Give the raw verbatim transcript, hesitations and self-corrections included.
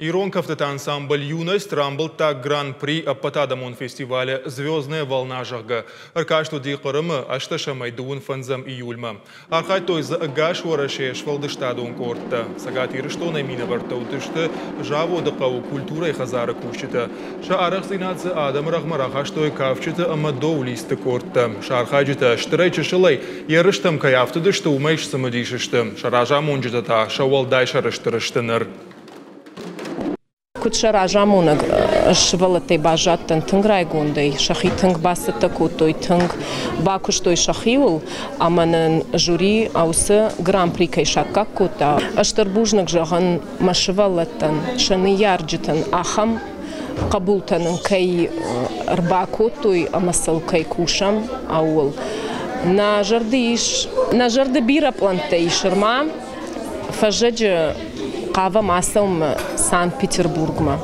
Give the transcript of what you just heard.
Ирон кӕфтыты ансамбль «Юность» рамбылдта гран-при ӕппӕтадӕмон фестивалы «Звездная волна», зӕгъгӕ. Ӕркаст уыди Хъырымы ӕстдӕсӕмӕй дыууын фӕндзӕм июльмӕ. Архайдтой дзы ӕгас Уӕрӕсейы сфӕлдыстадон къордтӕ. Цӕгат Ирыстонӕй минӕвӕрттӕ уыдысты Заводы хъӕуы культурӕйы хӕдзары кусджытӕ. Сӕ арӕхстдзинад дзы адӕмы рӕгъмӕ рахастой кафджыты ӕмӕ доулистты къордтӕ. Сӕ архайджытӕ стырӕй-чысылӕй ерыстӕм кӕй афтыдысты, уымӕй сцымыдис сты. Сӕ разамонджытӕ та сӕ уӕлдай сӕрыстыр сты ныр. Куыд сӕ разамонӕг, сывӕллӕттӕй баззадтӕн тынг райгондӕй, сӕхи тынг бацӕттӕ кодтой, тынг бакуыстой сӕхиуыл, ӕмӕ нын жюри уыцы гран-при кӕй саккаг кодта. Стыр бузныг зӕгъын мӕ сывӕллӕттӕн, сӕ ныййарджытӕн, ахӕм хъӕбултӕ нын кӕй ӕрбакодтой ӕмӕ сыл кӕй кусӕм, ууыл. Нӕ зӕрды ис, нӕ зӕрды бирӕ пълӕнттӕ ис ӕрма фӕззӕджы хъавӕм ацӕуынмӕ Санкт-Петербургмӕ.